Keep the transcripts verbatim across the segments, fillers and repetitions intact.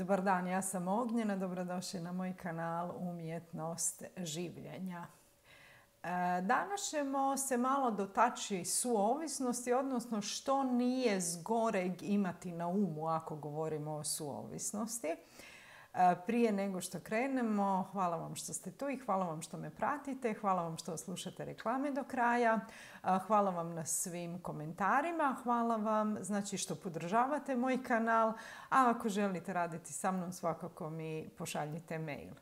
Dobar dan, ja sam Ognjena, dobrodošli na moj kanal Umjetnost življenja. Danas ćemo se malo dotaći suovisnosti, odnosno što nije zgoreg imati na umu ako govorimo o suovisnosti. Prije nego što krenemo, hvala vam što ste tu i hvala vam što me pratite, hvala vam što slušate reklame do kraja, hvala vam na svim komentarima, hvala vam znači što podržavate moj kanal, a ako želite raditi sa mnom svakako mi pošaljite mail.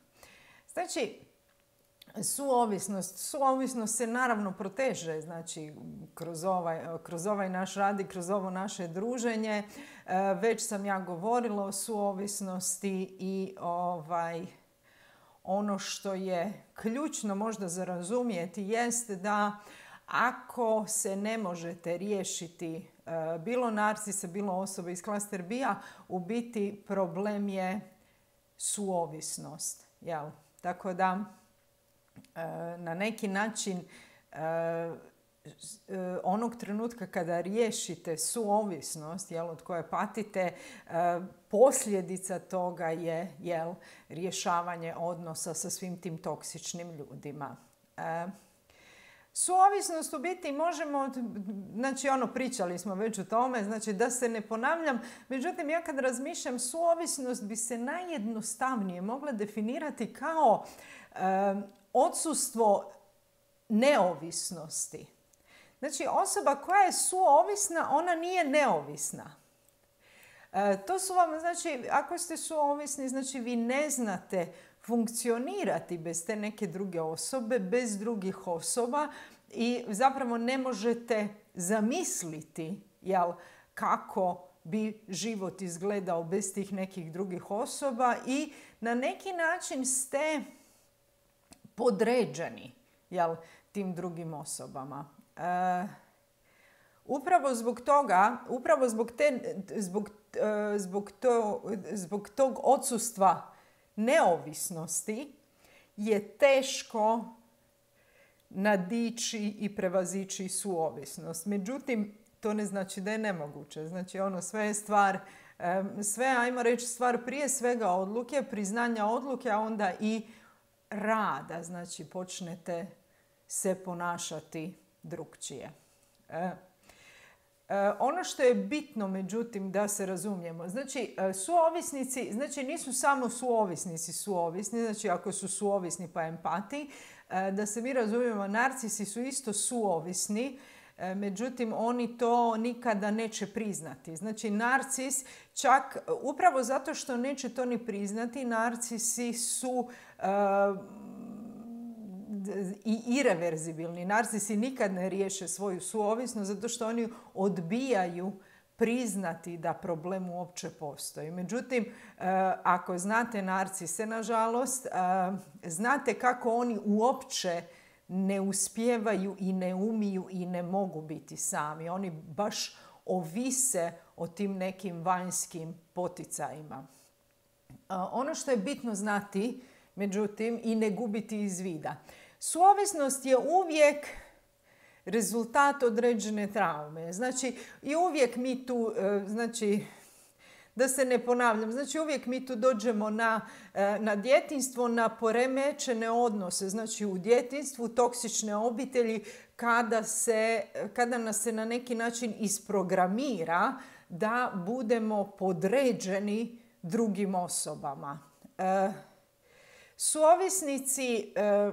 Znači, suovisnost. Suovisnost se naravno proteže znači, kroz, ovaj, kroz ovaj naš rad i kroz ovo naše druženje. Već sam ja govorila o suovisnosti i ovaj, ono što je ključno možda za razumjeti jest da ako se ne možete riješiti bilo narcisa, bilo osobe iz klaster B-a, u biti problem je suovisnost. Jel? Tako da na neki način onog trenutka kada riješite suovisnost jel, od koje patite, posljedica toga je jel, rješavanje odnosa sa svim tim toksičnim ljudima. Suovisnost u biti možemo, znači ono pričali smo već o tome, znači da se ne ponavljam, međutim ja kad razmišljam suovisnost bi se najjednostavnije mogla definirati kao um, odsustvo neovisnosti. Znači osoba koja je suovisna, ona nije neovisna. E, to su vam, znači ako ste suovisni, znači vi ne znate funkcionirati bez te neke druge osobe, bez drugih osoba i zapravo ne možete zamisliti jel, kako bi život izgledao bez tih nekih drugih osoba i na neki način ste podređeni jel, tim drugim osobama. E, upravo zbog toga, upravo zbog, te, zbog, e, zbog, to, zbog tog odsustva neovisnosti je teško nadići i prevazići suovisnost. Međutim, to ne znači da je nemoguće. Znači, ono sve je stvar, sve, ajmo reći, stvar prije svega odluke, priznanja odluke, a onda i rada. Znači, počnete se ponašati drukčije. E. Ono što je bitno, međutim, da se razumijemo, znači suovisnici, znači nisu samo suovisnici suovisni, znači ako su suovisni pa empati, da se mi razumijemo, narcisi su isto suovisni, međutim oni to nikada neće priznati. Znači narcis čak, upravo zato što neće to ni priznati, narcisi su uh, i ireverzibilni. Narcisi nikad ne riješe svoju suovisnost zato što oni odbijaju priznati da problem uopće postoji. Međutim, ako znate narcise, nažalost, znate kako oni uopće ne uspijevaju i ne umiju i ne mogu biti sami. Oni baš ovise o tim nekim vanjskim poticajima. Ono što je bitno znati, međutim, i ne gubiti iz vida. Suovisnost je uvijek rezultat određene traume. Znači, i uvijek mi tu, znači, da se ne ponavljam, znači uvijek mi tu dođemo na, na djetinjstvo, na poremećene odnose. Znači, u djetinjstvu toksične obitelji kada, se, kada nas se na neki način isprogramira da budemo podređeni drugim osobama. E, suovisnici... E,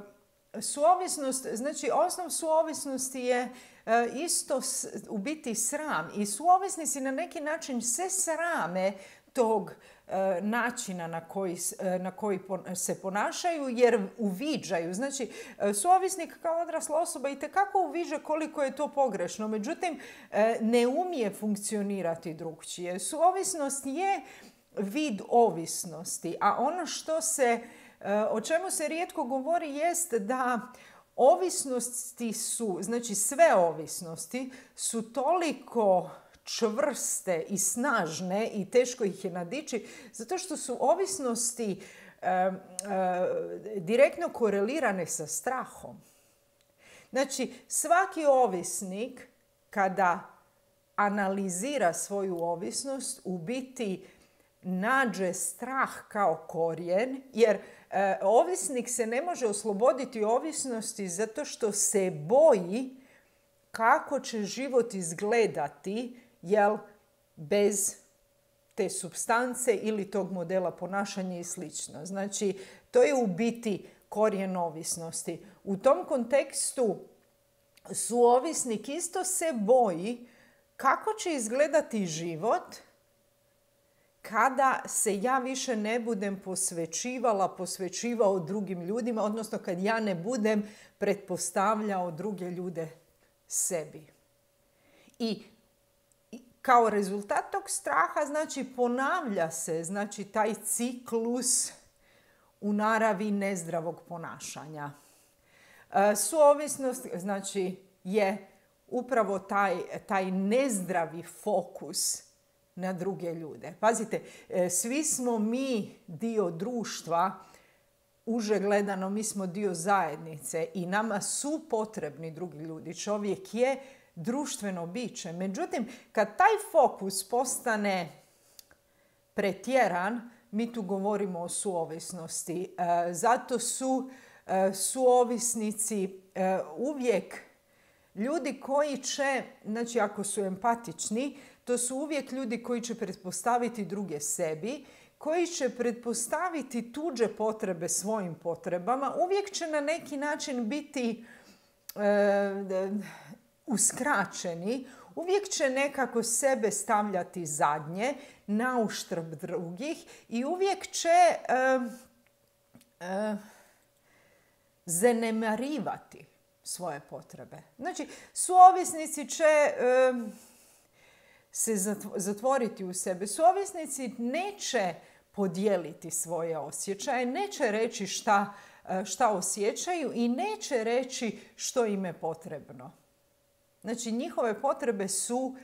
Suovisnost, znači osnov suovisnosti je e, isto s, u biti sram i suovisnici na neki način se srame tog e, načina na koji, e, na koji pon, se ponašaju jer uviđaju. Znači e, suovisnik kao odrasla osoba itekako uviđa koliko je to pogrešno, međutim e, ne umije funkcionirati drukčije. Suovisnost je vid ovisnosti, a ono što se o čemu se rijetko govori jest da ovisnosti su, znači sve ovisnosti su toliko čvrste i snažne i teško ih je nadići zato što su ovisnosti e, e, direktno korelirane sa strahom. Znači svaki ovisnik kada analizira svoju ovisnost u biti nađe strah kao korijen, jer e, ovisnik se ne može osloboditi ovisnosti zato što se boji kako će život izgledati, jel, bez te supstance ili tog modela ponašanja i slično. Znači, to je u biti korijen ovisnosti. U tom kontekstu suovisnik isto se boji kako će izgledati život kada se ja više ne budem posvećivala, posvećivao drugim ljudima, odnosno kad ja ne budem pretpostavljao druge ljude sebi. I kao rezultat tog straha, znači, ponavlja se, znači, taj ciklus u naravi nezdravog ponašanja. E, suovisnost, znači, je upravo taj, taj nezdravi fokus na druge ljude. Pazite, e, svi smo mi dio društva, uže gledano mi smo dio zajednice i nama su potrebni drugi ljudi. Čovjek je društveno biće. Međutim, kad taj fokus postane pretjeran, mi tu govorimo o suovisnosti. E, zato su e, suovisnici e, uvijek ljudi koji će, znači ako su empatični, to su uvijek ljudi koji će pretpostaviti druge sebi, koji će pretpostaviti tuđe potrebe svojim potrebama, uvijek će na neki način biti e, uskraćeni, uvijek će nekako sebe stavljati zadnje, na uštrb drugih i uvijek će e, e, zanemarivati svoje potrebe. Znači, suovisnici će e, se zatvoriti u sebe. Suovisnici neće podijeliti svoje osjećaje, neće reći šta, šta osjećaju i neće reći što im je potrebno. Znači, njihove potrebe su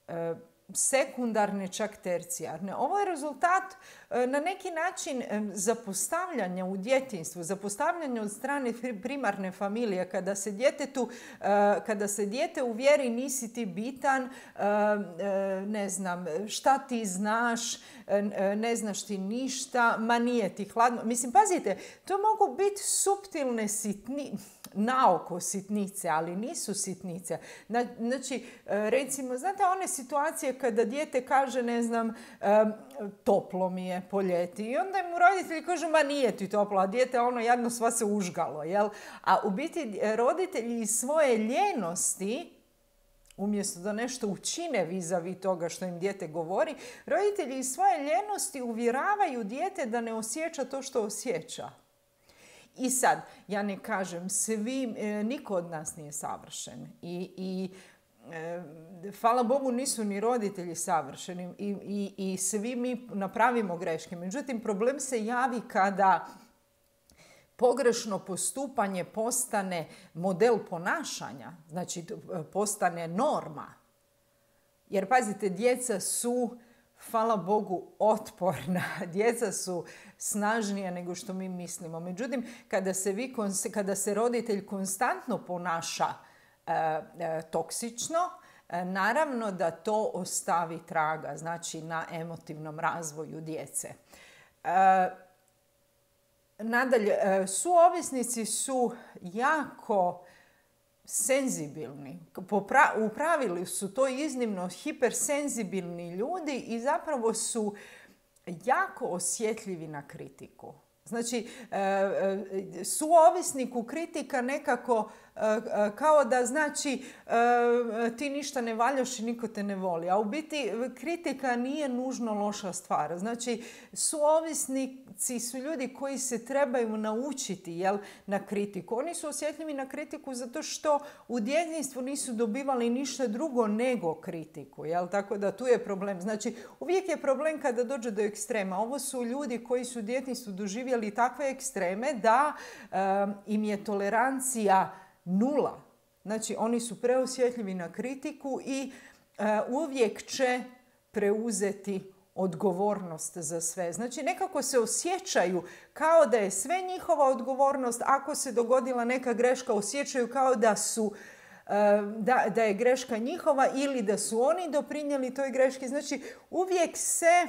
e, sekundarne, čak tercijarne. Ovo je rezultat e, na neki način e, zapostavljanja u djetinjstvu, zapostavljanja od strane primarne familije, kada se djetetu, e, kada se dijete uvjeri nisi ti bitan, e, e, ne znam, šta ti znaš, e, ne znaš ti ništa, ma nije ti hladno. Mislim, pazite, to mogu biti suptilne sitni, naoko sitnice, ali nisu sitnice. Znači, recimo, znate one situacije kada dijete kaže, ne znam, toplo mi je po ljeti i onda mu roditelji kažu, ma nije ti toplo, a dijete ono jadno sva se užgalo, jel? A u biti roditelji iz svoje ljenosti, umjesto da nešto učine vis-a-vis toga što im dijete govori, roditelji iz svoje ljenosti uvjeravaju dijete da ne osjeća to što osjeća. I sad, ja ne kažem, svi, niko od nas nije savršen. I, i e, hvala Bogu nisu ni roditelji savršeni i, i, i svi mi napravimo greške. Međutim, problem se javi kada pogrešno postupanje postane model ponašanja, znači postane norma. Jer pazite, djeca su, hvala Bogu, otporna. Djeca su snažnija nego što mi mislimo. Međutim, kada se, vi, kada se roditelj konstantno ponaša e, e, toksično, e, naravno da to ostavi traga, znači na emotivnom razvoju djece. E, nadalje, e, suovisnici su jako senzibilni. U pravilu su to iznimno hipersenzibilni ljudi i zapravo su jako osjetljivi na kritiku. Znači, suovisniku kritika nekako kao da znači ti ništa ne valjaš i niko te ne voli. A u biti kritika nije nužno loša stvar. Znači, suovisnici su ljudi koji se trebaju naučiti, jel, na kritiku. Oni su osjetljivi na kritiku zato što u djetinjstvu nisu dobivali ništa drugo nego kritiku. Jel? Tako da tu je problem. Znači, uvijek je problem kada dođe do ekstrema. Ovo su ljudi koji su u djetinjstvu doživjeli takve ekstreme da um, im je tolerancija nula. Znači, oni su preosjetljivi na kritiku i uh, uvijek će preuzeti odgovornost za sve. Znači, nekako se osjećaju kao da je sve njihova odgovornost. Ako se dogodila neka greška, osjećaju kao da su uh, da, da je greška njihova ili da su oni doprinijeli toj greški. Znači, uvijek se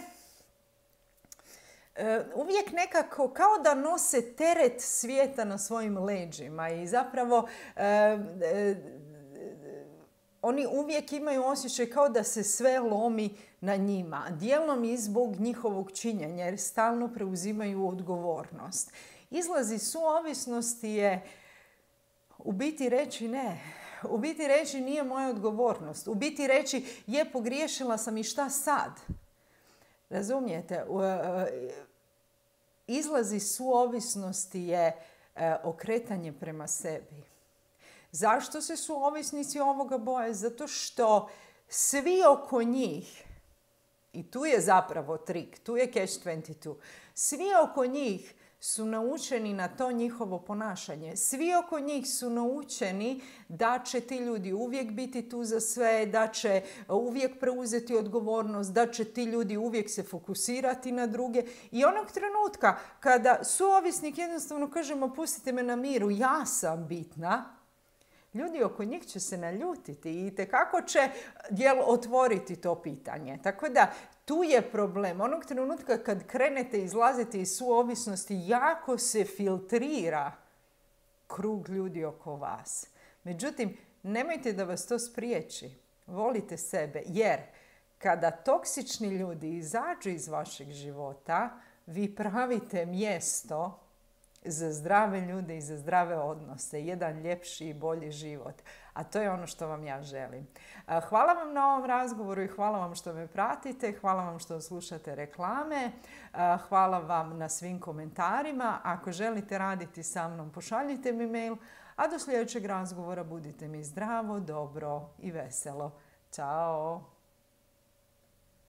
uvijek nekako kao da nose teret svijeta na svojim leđima i zapravo oni uvijek imaju osjećaj kao da se sve lomi na njima. Dijelom i zbog njihovog činjenja jer stalno preuzimaju odgovornost. Izlaz iz suovisnosti je u biti reći ne. U biti reći nije moja odgovornost. U biti reći je pogriješila sam i šta sad? Razumijete? Izlaz iz suovisnosti je okretanje prema sebi. Zašto se suovisnici ovoga boje? Zato što svi oko njih, i tu je zapravo trik, tu je catch dvadeset dva, svi oko njih su naučeni na to njihovo ponašanje. Svi oko njih su naučeni da će ti ljudi uvijek biti tu za sve, da će uvijek preuzeti odgovornost, da će ti ljudi uvijek se fokusirati na druge. I onog trenutka kada suovisnik jednostavno kažemo pustite me na miru, ja sam bitna, ljudi oko njih će se naljutiti i itekako će jel, otvoriti to pitanje. Tako da tu je problem. Onog trenutka kad krenete izlaziti iz suovisnosti, jako se filtrira krug ljudi oko vas. Međutim, nemojte da vas to spriječi. Volite sebe jer kada toksični ljudi izađu iz vašeg života, vi pravite mjesto za zdrave ljude i za zdrave odnose, jedan ljepši i bolji život. A to je ono što vam ja želim. Hvala vam na ovom razgovoru i hvala vam što me pratite, hvala vam što slušate reklame, hvala vam na svim komentarima. Ako želite raditi sa mnom, pošaljite mi mail, a do sljedećeg razgovora budite mi zdravo, dobro i veselo. Ćao!